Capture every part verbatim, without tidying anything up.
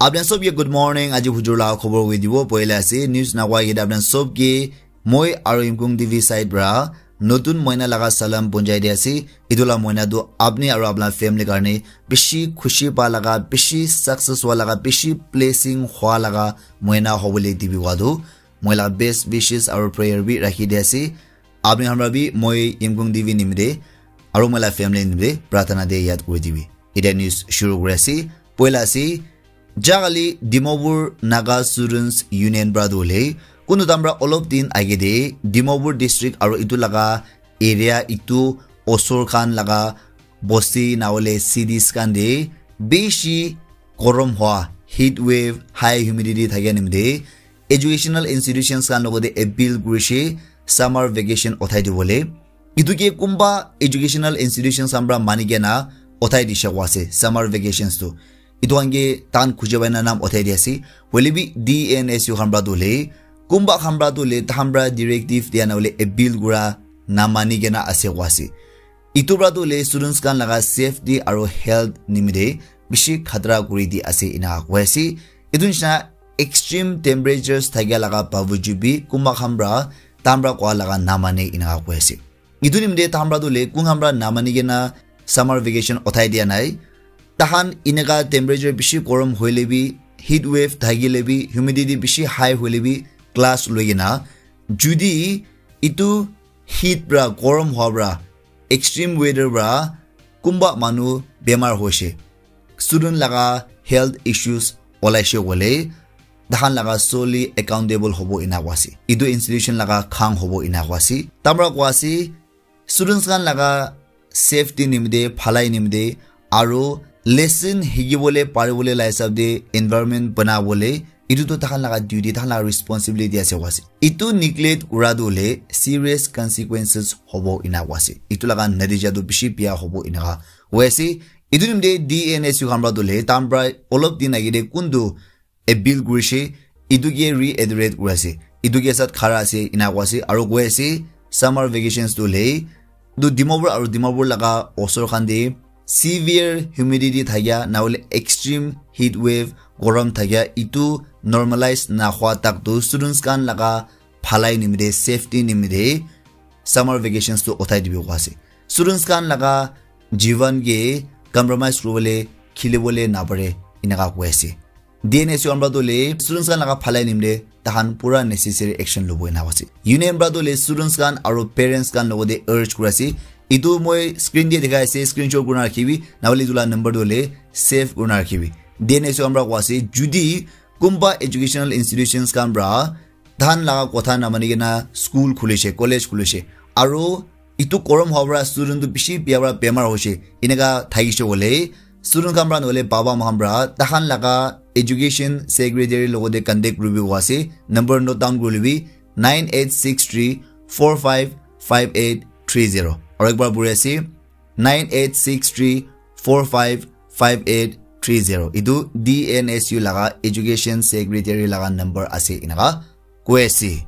Apni sob ke good morning. Aji hujur la khobor hui dibo. Poila ase news na koi ke apni sob ke moi aru Imkung T V side pra notun moina laga salam punjai di ase. Itu la moina tu apni aru apna family karne bishi khushi pa laga, bishi success hua laga, bishi blessing hua laga moina hobole dibi wa tu. Moi la best wishes aru prayer bi rakhi di ase. Apni hamra bi moi Imkung T V nimite aru moi la family nimite pratana de yad kuri dibi. Ida news shuru kuri ase. Poila ase, jagali Dimapur Naga Students Union pra tu hole, kunu tamra olop din age de Dimapur district aru itu laga area, itu osor khan laga bosti na hole cities khan de bishi gorom hua, heat wave, high humidity thakia nimite educational institutions khan logote appeal kurishe summer vacation uthai dibole. Itu ke kumba educational institutions khan pra mani kena uthai dishe koi ase summer vacations tu. Itu khan ke tahan khuje bai na nam uthai di ase. Hoile bi D N S U khan pra tu hole, kumba khan pra tu hole, tahan pra directive dia na hole appeal kura na mani kena ase koi ase. Itu pra tu hole students khan laga safety aru health nimite bishi khatra kuri di ase ina koi ase. Itu nishina extreme temperatures thakia laga bawajud bi kumba khan pra tahan pra koa laga na mane ina koi ase. Itu nimite tahan pra tu hole kun khan pra na mani kena summer vacation uthai dia nai. Tahan ineka temperature bishi gorom hoile bi, heat wave thakile bi, humidity bishi high hoile bi class loi kena, judi itu heat pra, gorom hua pra, extreme weather pra kumba manu bemar hoishe, student laga health issues olaishe koile, tahan laga solely accountable hobo ina koi ase. Itu institution laga khang hobo ina koi ase. Tahan pra koi ase, students khan laga safety nimite, bhalai nimite, aru lesson hikibole paribole la hisab de environment banabole, itu tu tahan laga duty, tahan laga responsibility ase koi ase. Itu neglect kura tu hole serious consequences hobo ina koi ase. Itu laga natija tu bishi biya hobo ina koi ase. Itu nimite D N S U khan pra tu hole, tahan pra olop din age de kuntu appeal kurishe, itu ke reiterate kuri ase. Itu ke sat khara ase, ina koi ase, aru koi ase, summer vacations tu hole, tu Dimapur aru Dimapur laga osor khan de severe humidity thakia, na hole extreme heat wave, gorom thakia, itu normalize na hua tak tu students khan laga bhalai nimite, safety nimite, summer vacations tu uthai dibi koi ase. Students khan laga jivan ke compromise kuribole, khilibole na pare, inaka koi ase. D N S U khan pra tu hole students khan laga bhalai nimite tahan pura necessary action lobo ina koi ase. Union pra tu hole students khan aru parents khan logote urge kuri ase. Itu moi screen de dikhai ase, screenshot kurina rakhibi, na hole itu la number tu hole save kurina rakhibi. D N S U khan pra koi ase, judi kumba educational institutions khan pra tahan laga kotha na mani kena school khulishe, college khulishe, aru itu gorom hua pra student tu bishi biya pra bemar hoishe, ineka thakishe koile, student khan pra na hole baba ma khan pra tahan laga education secretary logote contact kuribi koi ase. Number note down kuri libi, nine eight six three four five five eight three zero. Aru ekbar puri ase, nine eight six three four five five eight three zero. Itu D N S U laga education secretary laga number ase inaka koi ase.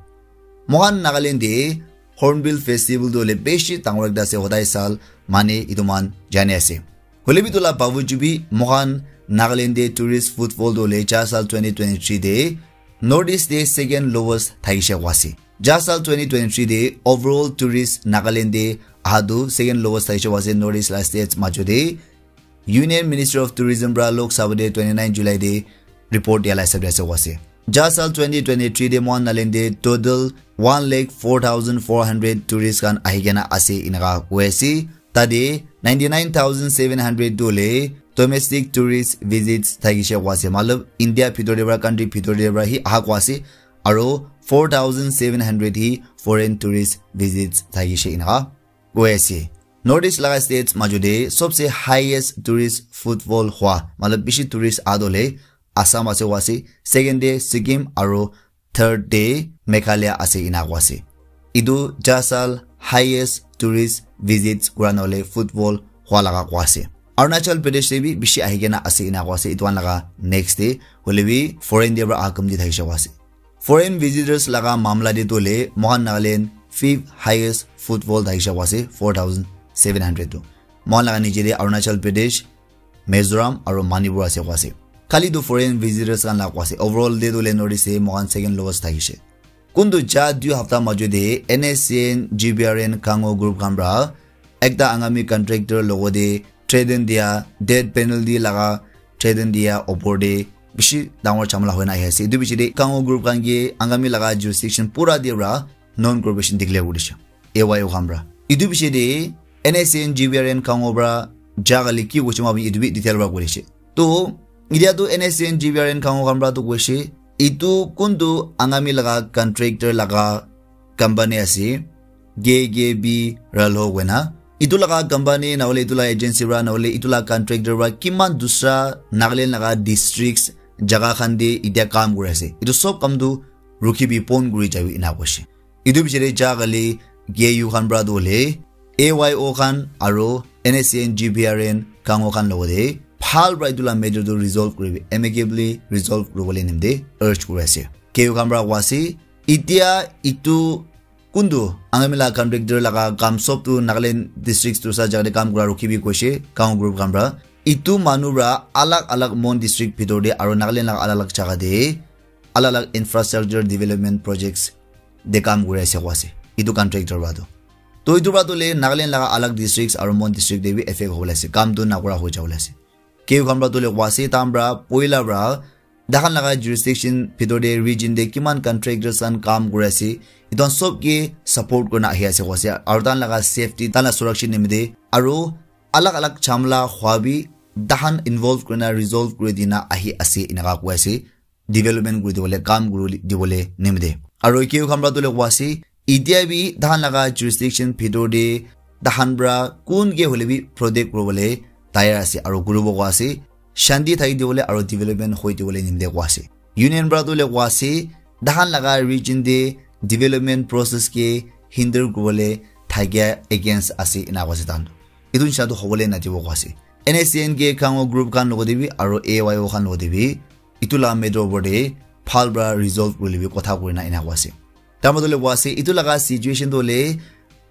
Mohan Nagaland de Hornbill Festival tu hole bishi dangor ekta ase, hodai sal mane itu man jani ase. Hoile bi itu la bawajud bi mohan Nagaland de tourist footfall tu hole ja sal twenty twenty-three de North East de second lowest thakishe koi ase. Ja sal twenty twenty-three de overall tourist Nagaland de aha tu second lowest thakishe koi ase North East la states majo de. Union Ministry of Tourism pra Lok Sabha de twenty-nine July de report dia la hisab de ase koi ase. Ja sal twenty twenty-three de mohan Nagaland de total one lakh four thousand four hundred tourist khan ahi kena ase inaka koi ase. Tade ninety-nine thousand seven hundred tu hole domestic tourist visits thakishe koi ase. Matlab India bhitor de pra, country bhitor de pra hi aha koi ase. Aru four thousand seven hundred hi foreign tourist visits thakishe inaka koi ase. North East laga states majo de sobse highest tourist footfall hua, matlab bishi tourist aha tu hole Assam ase koi ase. Second de Sikkim aru third de Meghalaya ase ina koi ase. Itu ja sal highest tourist visits kura na hole footfall hua laga koi ase. Arunachal Pradesh de bi bishi ahi kena ase ina koi ase. Itu khan laga next de hoile bi foreign de pra aha kam di thakishe koi ase. Foreign visitors laga mamla de tu hole mohan Nagaland fifth highest footfall thakishe koi ase, four thousand seven hundred tu. Mohan laga niche de Arunachal Pradesh, Mizoram aru Manipur ase koi ase. Kali tu foreign visitors khan la koa ase. Overall te tu le notice se moikhan second lowest thakishe. Kuntu ja dui hafta majo te N S C N, G B R N, Kango group khan pra ekta Angami contractor logo te threaten dia, death penalty laga threaten dia opor te bishi dangor chamala hoina ahi ase. Etu bishi te Kango group khan ke Angami laga jurisdiction pura te pra non cooperation declare kuri dishe. A Y O khan pra. Etu bishi te N S C N, G B R N, Kango pra ja kali ki kuchima bi etu bi detail pra kuri dishe. To, itia tu N S C N, G B R N, Kango khan pra tu kuishe, itu kuntu Angami laga contractor laga company ase, K K B Ralho koina. Itu laga company, nahole itu laga agency pra, nahole itu laga contractor pra, kiman dusra Nagaland laga districts, jaga khan te itia kam kuri ase. Itu sob kam tu rukhi bi pon kuri jabi ena kuishe. Itu bichare ja kali K U khan pra tu hole, A Y O khan aro N S C N, G B R N, Kango khan logote, bhal pra itu la matter tu resolve kuribi, amicably resolve kuribole nimte urge kuri ase. K U khan pra koa ase, itia itu kuntu Angami la contractor laga kam sob tu Nagaland district tu sa jaga te kam kura rukhibi koishe, Kango group khan pra. Itu manu pra alag alag Mon district bhitor te aro Nagaland laga alag alag jaga te alag alag infrastructure development projects te kam kuri ase koa ase. Itu contractor pra tu. To itu pra tu le Nagaland laga alag districts aro Mon district te bi effect hobole ase. Kam tu nakura hoi jabole ase. K U khan pra tu le koa ase, tahan pra poila pra tahan laga jurisdiction bhitor te region te kiman contractors khan kam kuri ase, itu khan sob ke support kurina ahi ase koa ase. Aro tahan laga safety, tahan la surakshit nimite aro alag alag chamla hua bi tahan involve kurina resolve kuri dina ahi ase enaka koi ase. Development kuri dibole, kam kuri dibole nimite. Aro K U khan pra tu le koa ase, itia bi tahan laga jurisdiction bhitor te tahan pra kun ke hole bi protect kuribole tayar ase aro kuribo koa ase, shanti thaki dibole aro development hoi dibole nimite koa ase. Union pra tu le koa ase, tahan laga region te development process ke hinder kuribole thakia against ase ena koa ase tahan. Itu nisha tu hobole nadibo koa ase. N S C N ke Kango group khan logote bi aro A Y O khan logote bi itu la matter opor te bhal pra resolve kurile bi kotha kurina ena koa ase. Tar matlab koa ase, itu laga situation tu hole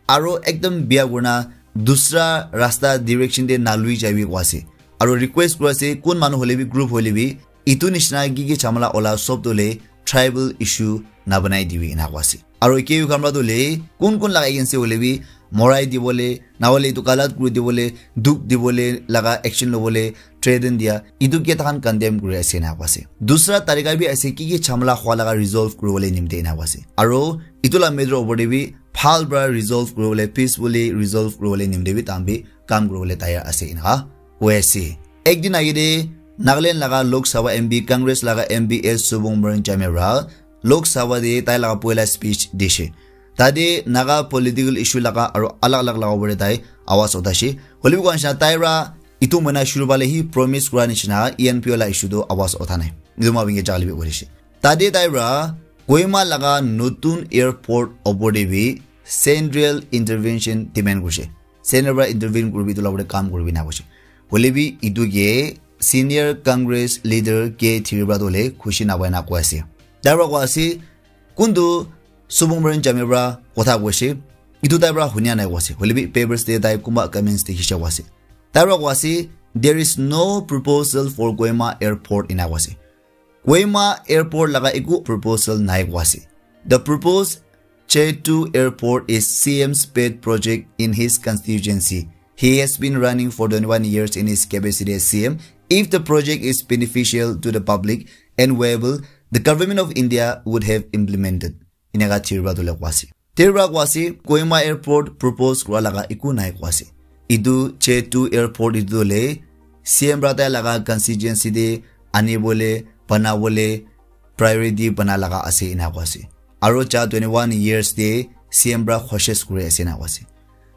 aro ekdam bia kurina dusra rasta direction te nalui jaibi koa ase. Aro request kuri ase, kun manu hole bi, group hole bi, itu nishina ki ki chamala ola sob tu hole tribal issue nabanai dibi ena koa ase. Aro K U khan pra tu hole kun kun laga against te hole bi morai dibole, nahole itu galat kuri dibole, dukh dibole laga action lobole threaten dia, itu ke tahan condemn kuri ase ena koa ase. Dusra tarika bi ase, ki ki chamala hua laga resolve kuribole nimite ena koa ase. Aro itu la matter opor te bi bhal pra resolve kuribole, peacefully resolve kuribole nimite bi tahan bi kam kuribole tayar ase ena koi ase. Ek din age te Nagaland laga Lok Sabha M P, Congress laga M P S Subung Moran Jamir pra Lok Sabha te tai laga poila speech dishe. Tate Naga political issue laga aro alag alag laga opor te tai awaz uthashe. Hoile bi koa nishina tai pra itu moina shuru phale hi promise kura nishina E N P O la issue tu awaz utha nai. Itu ma binge jali bi koishe. Tate tai pra Kohima laga notun airport opor te bi central intervention demand kurishe. Central pra intervene kuribi, itu la opor te kam kuribi ena kuishe. Hoile bi itu ke senior Congress leader K Thiri pra tu hole khushi napai na koi ase. Tai pra koi ase, kuntu Subung Moran Jamir pra kotha koishe, itu tai pra hunia nai koa ase. Hoile bi papers te tai kunba comments te hisha koa ase. Tai pra koa ase, "There is no proposal for Kohima airport," ena koa ase. Kohima airport laga eku proposal nai koa ase. The proposed Chetu Airport is C M's pet project in his constituency. He has been running for twenty-one years in his capacity as C M. If the project is beneficial to the public and viable, the government of India would have implemented. Eneka Thiri pra tu le koa ase. Thiri pra koa ase, Kohima airport propose kura laga eku nai koa ase. Itu Chetu airport itu le C M pra tai laga constituency te anibole, banabole, priority bana laga ase ena koa ase. Aro ja twenty-one years te C M pra khoshes kuri ase ena koa ase.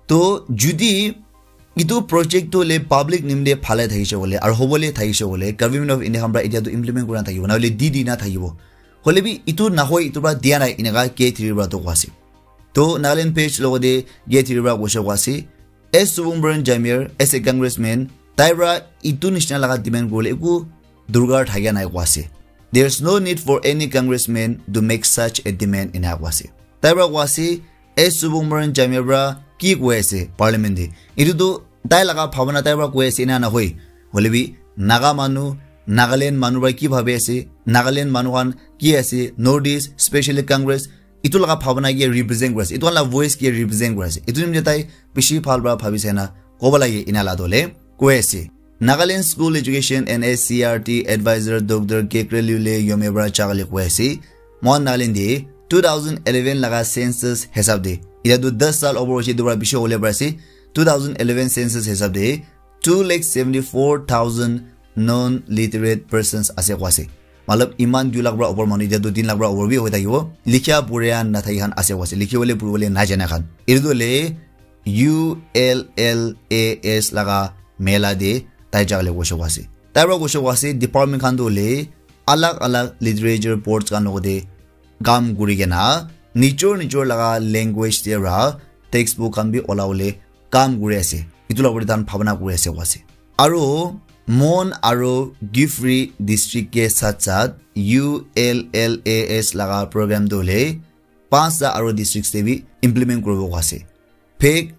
To judi itu project tu le public nimite phale thakishe bole, aro hobole thakishe bole, Government of India khan pra etia tu implement kura na thakibo, nahole di di na thakibo. Hoile bi itu nahoi, itu pra dia nai, eneka K Thiri pra tu koa ase. To Nagaland Page logote K Thiri pra koishe koa ase, S Subung Moran Jamir as a congressman, tai pra itu nishina laga demand kuribole eku durkar thakia nai koa ase. There's no need for any congressman to make such a demand ena koa ase. Tai pra koa ase, S Subung Moran Jamir pra ki koi ase parliament te. Itu tu tai laga bhabana tai pra koi ase ena nahoi. Hoile bi Naga manu Nagaland manu para ki bhabi ase, Nagaland manu khan ki ase, North East, specially Congress, itu laga bhabana ke represent kuri ase, itu khan la voice ke represent kuri ase. Itu nimite tai bishi bhal para bhabi sai na kobo lage ena la dole koi ase. Nagaland School Education and S C R T Advisor Doctor Kekreliu le Yome para chakale koi ase. Mohan Nagaland de two thousand eleven laga census hisab de, ila tu das sal over hoise, itu para bishi hole para ase. Two thousand eleven census hisab de two lakh seventy four thousand non literate persons ase koi ase. Matlab, iman dui lakh para upor manu, etiya tu tin lakh para upor bi hoi thakibo. Likha pura na thaki khan ase koi ase. Likhi bole puri bole na jana khan. Itu tu le U L L A S laga mela de tai jagale koi ase koi ase. Tai para koi ase koi ase, department khan tu le alag alag literature boards khan logote kam kuri kena nijor nijor laga language de ra textbook khan bi ola bole kam kuri ase. Itu la upor de tahan bhabana kuri ase koi ase. Aro Mon aro Kiphire district ke sath sath U L L A S laga program tu le panchta aro districts te bi implement kuribo koi ase. Phek,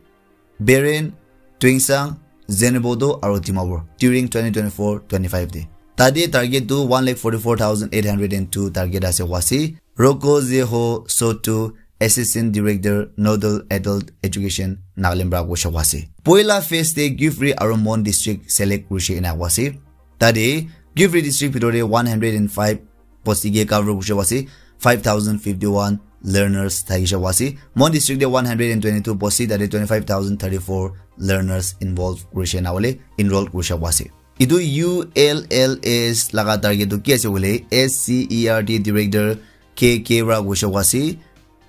Beren, Tuensang, Zunheboto aro Dimapur during twenty twenty-four twenty-five de. Tade target tu one lakh forty-four thousand eight hundred and two target ase koi ase. Roko Zeho Sotu, Assistant Director, Nodal Adult Education, Nagaland para koi ase koi ase. Poila phase te Kiphire aro Mon district select kurise ena koi ase. Tade Kiphire district bhitor te one hundred and five bosti ke cover kurise koi ase, five thousand fifty-one learners thakise koi ase. Mon district te one hundred and twenty-two bosti, tade twenty-five thousand thirty-four learners involve kurise na bole enroll kurise koi ase. Itu U L L A S laga target tu ki ase bole, S C E R T Director K K para koi ase koi ase.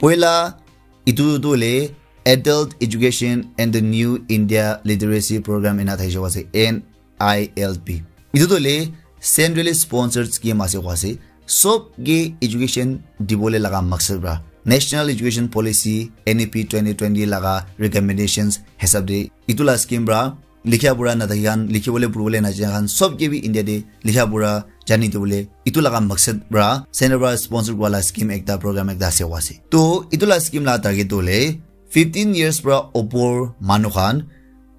Poila itu tu le Adult Education and the New India Literacy Program ena thakise koi ase, N I L P. Itu tu le centrally sponsored scheme ase koi ase. Sob ke education dibole laga maksad para National Education Policy, N E P twenty twenty laga recommendations hisab de itu la scheme para likha pura na thaki khan, likhi bole puri bole na jana khan, sob ke bi India de likha pura jani dibole itu laga maksad para center para sponsor kura la scheme ekta, program ekta ase koi ase. To itu la scheme la target tu le fifteen years para upor manu khan,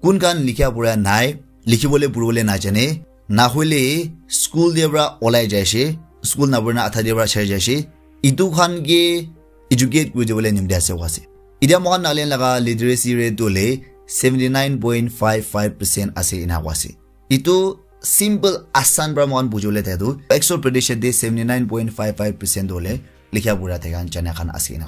kun khan likha pura nai, likhi bole puri bole na jane, na hoile school de para olai jaise, school na pura na adha de para chari jaise, itu khan ke educate kuri dibole nimite ase koi ase. Etiya moikhan Nagaland laga literacy rate tu le seventy nine point five five percent ase ena koi ase. Itu simple asan para moikhan bujibole thai tu, actual prediction de seventy nine point five five percent tu le likha pura thaka jana khan ase ena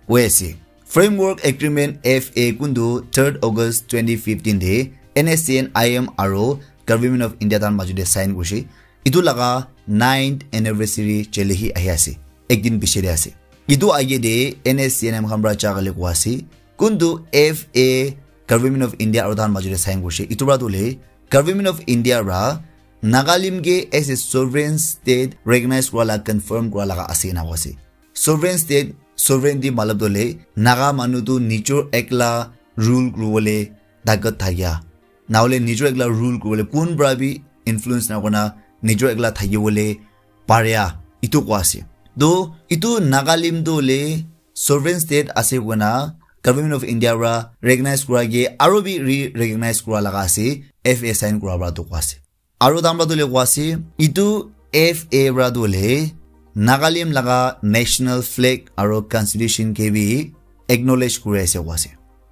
koi ase. Framework Agreement, F A, kuntu third August twenty fifteen de N S C N I M aro Government of India tahan majo de sign kurise. Itu laga ninth anniversary chelehi ahi ase. Ek din piche de ase. Itu age de N S C N M khan para jagale koi ase. Kuntu F A Government of India aro tahan majo de sign kurise. Itu para tu le Government of India para Nagalim ke as a sovereign state recognize kura la confirm kura laga ase ena koi ase. Sovereign state, sovereignty matlab tu le Naga manu tu nijor ekla rule kuri bole takat thakia. Na hole nijor ekla rule kuri bole kun para bi influence na kurna nijor ekla thaki bole paria. Itu koi ase. To itu Nagalim tu le sovereign state ase koina Government of India para recognize kura ke aro bi re-recognize kura laga ase, F A sign kura para tu koi ase. Aro tahan para tu le koi ase, itu F A para tu le Nagalim laga national flag aro constitution ke bi acknowledge kuri ase koi ase.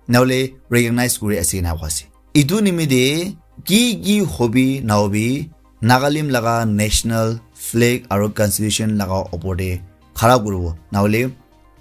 Na hole recognize kuri ase ena koi ase. Itu nimite ki ki hobi na hobi Nagalim laga national flag aro constitution laga opor de khara kuribo. Na hole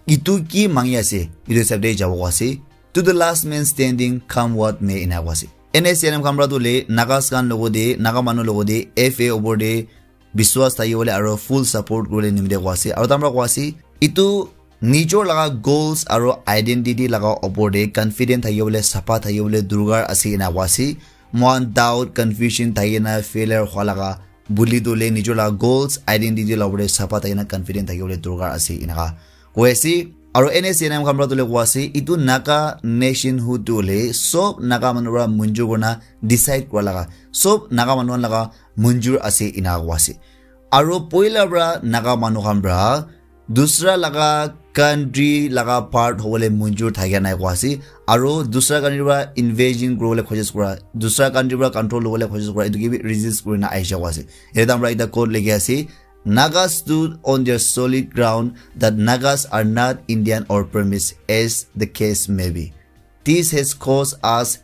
itu ki mangi ase, itu hisab de jabo koi ase. To the last man standing, come what may ena koi ase. N S C N M khan para tu le Nagas khan logo de, Naga manu logo de, F A opor de biswas thaki bole aro full support kuri bole nimite koi ase. Aro tahan para koi ase, itu nijor laga goals aro identity laga opor de confident thaki bole, sapha thaki bole dorkar ase ena koi ase. Moikhan doubt, confusion thaki na failure hua laga buli tu le nijor laga goals, identity la opor de sapha thaki na confident thaki bole dorkar ase ena koi ase. Aro N S C N M khan para tu le koi ase, itu Naga nationhood tu le sob Naga manu para munjur kurna decide kura laga, sob Naga manu khan laga munjur ase ena koi ase. Aro poila para Naga manu khan para dusra laga country laga part hobole munjur thakia nai koa ase. Aro dusra country pra invasion kuribole khojis kura, dusra country pra control lobole khojis kura, etu ke bi resist kurina ahisha koa ase. Ete amra ekta quote likhi ase, "Nagas stood on their solid ground that Nagas are not Indian or Burmese, as the case may be. This has caused us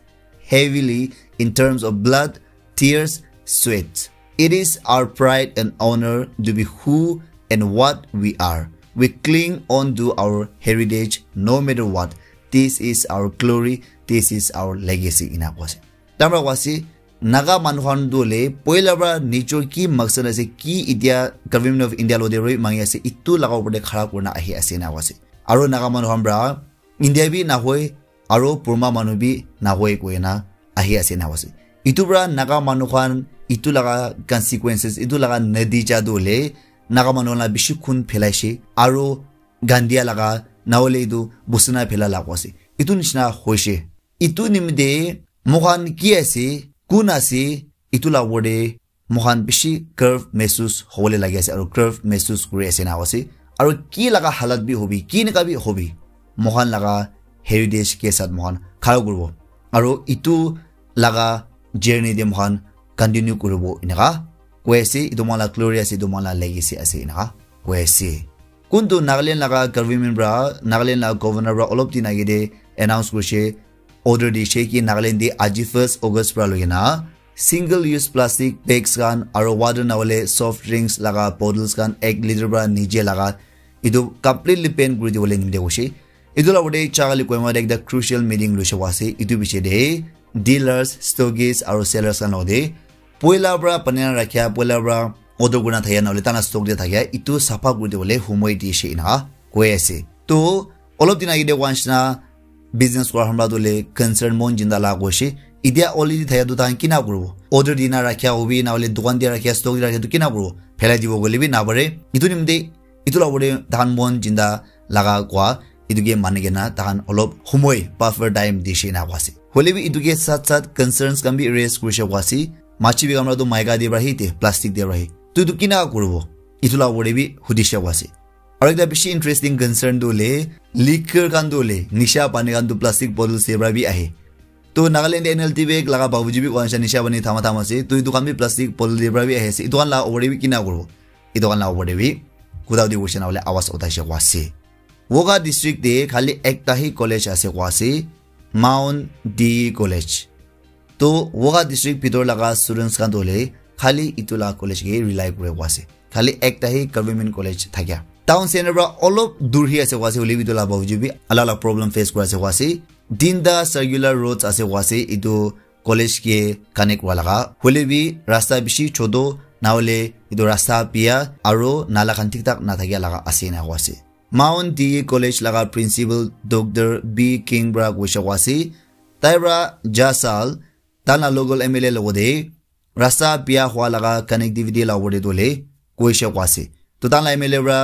heavily in terms of blood, tears, sweat. It is our pride and honor to be who and what we are. We cling on to our heritage no matter what. This is our glory. This is our legacy." Ina koa ase. Tamra koa ase, Naga manu khan tu le poila pra nijor ki maksad ase, ki itia Government of India lo de roi mangi ase, itu laga upor de khara kurina ahi ase na koa ase. Aro Naga manu khan pra India bi nahoi, aro Burma manu bi nahoi koina ahi ase na ase. Itu pra Naga manu khan itu laga consequences, itu laga natija tu hoile Naga manu khan la bishi khun phelaishe, aro gandia laga nahole itu busina phela laga ase. Itu nishina hoishe. Itu nimite moikhan ki ase, kun ase, itu la upor te moikhan bishi girv mehsus hobole lagi ase, aro girv mehsus kuri ase na ase. Aro ki laga halat bi hobi, ki naka bi hobi, moikhan laga heritage ke sath moikhan khara kuribo. Aro itu laga journey te moikhan continue kuribo enaka koi ase. Itu moikhan la glory ase, itu moikhan la legacy ase enaka koi ase. Kuntu Nagaland laga government pra, Nagaland laga governor pra olop din age te announce kurishe, order dishe ki Nagaland te aji first August pra loikena single use plastic bags khan aro water nahole soft drinks laga bottles khan ek liter pra niche laga itu completely ban kuri dibole nimite hoishe. Itu la upor te Chagali Kohima te ekta crucial meeting loishe koa ase. Itu piche te dealers, stockists aro sellers khan logote poila pra banai na rakhia, poila pra order kurina thakia nahole tana stock te thakia itu sapha kuri dibole humoi dishe ena koi ase. To olop din age te koa nishina business kura khan pra tu le concern mon jinda la koishe. Itia already thakia tu tahan kina kuribo? Order dina rakhia hobi nahole dukan te rakhia, stock te rakhia tu kina kuribo? Phelai dibo koile bi napare. Itu nimite itu la upor te tahan mon jinda laga koa itu ke mani kena tahan olop humoi buffer time dishe na koa ase. Hoile bi itu ke sath sath concerns khan bi raise kurishe koa ase. Machi bi kamra tu maika de pra hi te plastic de pra hi. Tu itu kina kuribo? Itu la upor te bi hudishe koa ase. Aro ekta bishi interesting concern tu hoile liquor khan tu hoile nisha pani khan tu plastic bottles de pra bi ahe. To Nagaland N L T bag laga babuji bi koa nisha nisha pani thama thama ase. To itu khan bi plastic bottle de pra bi ahi ase. Itu khan la upor te bi kina kuribo? Itu khan la upor te bi kuda di koishe nahole awaz uthai she koa ase. Wokha district te khali ekta hi college ase koa ase, Mount D College. To Wokha district bhitor laga students khan tu hoile khali itu la college ke rely kure koa ase. Khali ekta hi government college thakia. Town center pra olop dur hi ase koa ase, hoile bi itu la babuji bi alak alak problem face kura ase koa ase. Tinta circular roads ase koa ase, itu college ke connect kura laga. Hoile bi rasta bishi choto, nahole itu rasta biya aro nala khan thik thak nathakia laga ase ena koa ase. Mount D College laga principal Doctor B King pra koishe koa ase. Tai pra ja sal, tahan la local M L A logote rasta biya hua laga connectivity la upor te tu hoile koishe koa ase. To tahan la M L A pra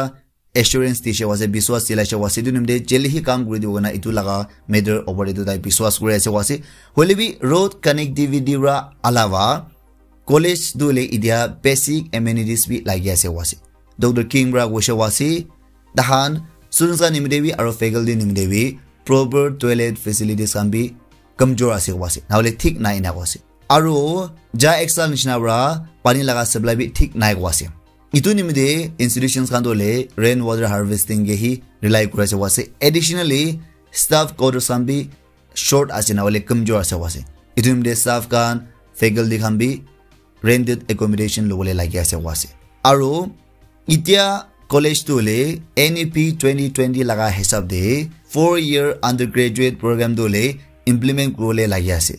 assurance dishe koa ase, biswas dilaishe koa ase, itu nimite jeli hi kam kuri dibo koina itu laga matter upor te tu tai biswas kuri ase koa ase. Hoile bi road connectivity pra alawa college tu hoile itia basic amenities bi lagi ase koa ase. Doctor King pra koishe koa ase, tahan students khan nimite bi aro faculty nimite bi proper toilet facilities khan bi kamjor ase koa ase, nahole thik nai ena koa ase. Aro ja ek sal nishina pra pani laga supply bi thik nai koa ase. Itu nimite institutions khan tu hoile rain water harvesting ke hi rely kuri ase koa ase. Additionally, staff quarters khan bi short ase nahole kamjor ase koa ase. Itu nimite staff khan, faculty khan bi rented accommodation lobole lagi ase koa ase. Aro itia college tu hoile N E P twenty twenty laga hisab te four year undergraduate program tu hoile implement kuribole lagi ase.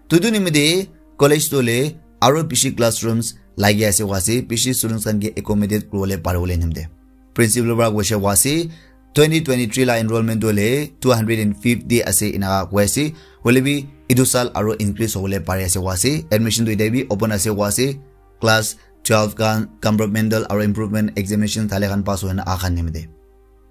Tutu nimite college tu hoile aro bishi classrooms lagi ase koa ase, bishi students khan ke accommodate kuribole paribole nimite. Principal pra koishe koa ase, twenty twenty-three la enrollment tu hoile two hundred and fifty ase ena koa ase. Hoile bi itu sal aro increase hobole pari ase koa ase. Admission tu itia bi open ase koa ase. Class twelve khan compartmental aro improvement examination thale khan pass hoina aha khan nimite.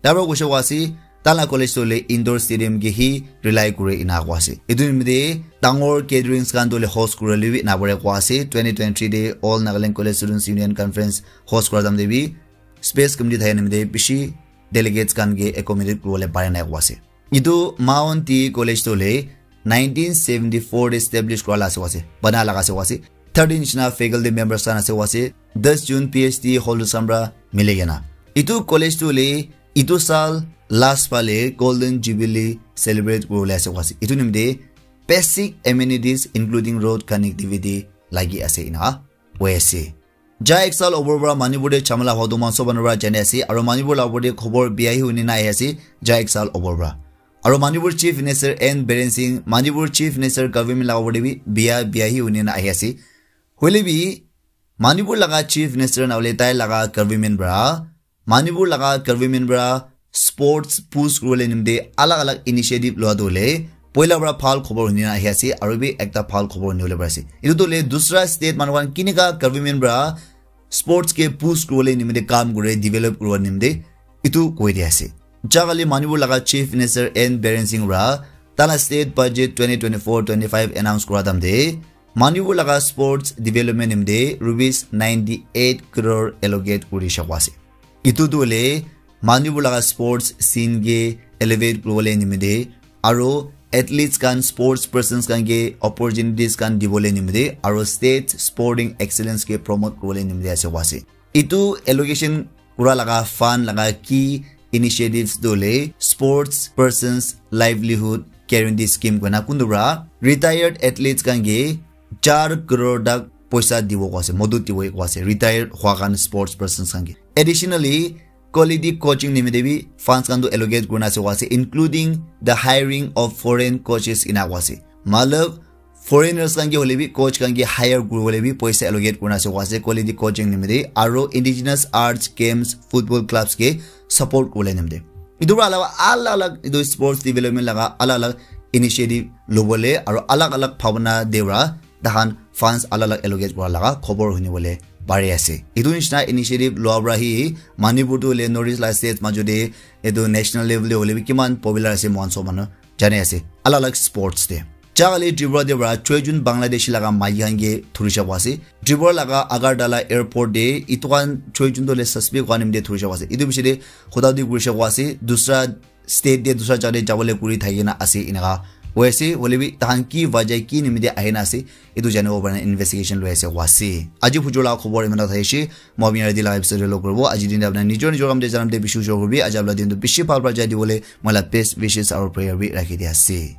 Tar pra koishe koa ase, tahan la college tu hoile indoor stadium ke hi rely kure ena koa ase. Itu nimite dangor gatherings khan tu hoile host kuribole bi napare koa ase. Twenty twenty-three te All Nagaland College Students Union Conference host kura time te bi space committee thake nimite bishi delegates khan ke accommodate kuribole pare nai koa ase. Etu Mount T College tu hoile nineteen seventy four te establish kura la ase koa ase, bana laga ase koa ase. Thirteen nishina faculty members khan ase koa ase, ten jun P H D holders khan para mili kena. Etu college tu hoile etu saal last phale Golden Jubilee celebrate kuribole ase koa ase. Etu nimite basic amenities including road connectivity lagi ase ena koi ase. Ja ek saal opor para Manipur te jhamela hua tu moikhan sob manu para jani ase, aru Manipur la opor te khobor bia hi huni na ahi ase, ja ek saal opor para. Aru Manipur Chief Minister N Biren Singh, Manipur Chief Minister government la opor te bi bia, bia hi huni na ahi ase. Hoile bi, Manipur laga Chief Minister na hoile tai laga government para, Manipur laga government para sports push kuribole nimite alag alag initiative lua tu hoile, poila para bhal khobor huni na ahi ase, aru bi ekta bhal khobor huni bole pari ase. Etu tu hoile dusra state manu khan kinika government para sports ke push kuribole nimite kam kure, develop kuribo nimite etu koi di ase. Ja kali Manipur laga Chief Minister N Biren Singh para tala state budget twenty twenty-four twenty-five announce kura time te Manipur laga sports development nimite rupees ninety eight crore allocate kuri shakwa ase. Etu tu hoile Manipur laga sports scene ke elevate kuribole nimite aru athletes khan, sports persons khan ke opportunities khan dibole nimite aru state sporting excellence ke promote kuribole nimite ase koa ase. Etu allocation kura laga fund laga key initiatives tu hoile sports persons livelihood guarantee scheme koina kuntu para retired athletes khan ke char crore tak poisa dibo koa ase, modot dibo koa ase, retired hua khan sports persons khan ke. Additionally, quality coaching nimite bi funds khan tu allocate kurina ase koa ase, including the hiring of foreign coaches ena koa ase. Matlab, foreigners khan ke hoile bi coach khan ke hire kuribole bi poisa allocate kurina ase koa ase, quality coaching nimite, aru indigenous arts, games, football clubs ke support kuribole nimite. Etu para alawa alag alag etu sports development laga alag alag initiative lobole aru alag alag bhabana de para tahan funds alag alag allocate kura laga khobor huni bole pari ase. Etu nishina initiative lua para hi Manipur tu hoile North East la states majo te etu national level te hoile bi kiman popular ase moikhan sob manu jani ase alag alag sports te. Ja kali Tripura te para choi jun Bangladeshi laga maiki khan ke thuri shakwa ase. Tripura laga Agartala airport te etu khan choi jun tu hoile suspect khan nimite thuri shakwa ase. Etu bishi te khuda di kuri shakwa ase. Dusra state te dusra jaga te jabole kuri thaki na ase eneka koi ase. Hoile bi tahan ki wajah ki nimite ahi na ase, etu janibo karne investigation loi ase koa ase. Aji phujor laga khobor iman tak thakishi. Moi apni yate laga episode te log kuribo. Aji din te apni nijor nijor kam te janam te bishi ujor kuribi. Aji apni din tu bishi bhal para jai dibole moi la best wishes aru prayer bi rakhi di ase.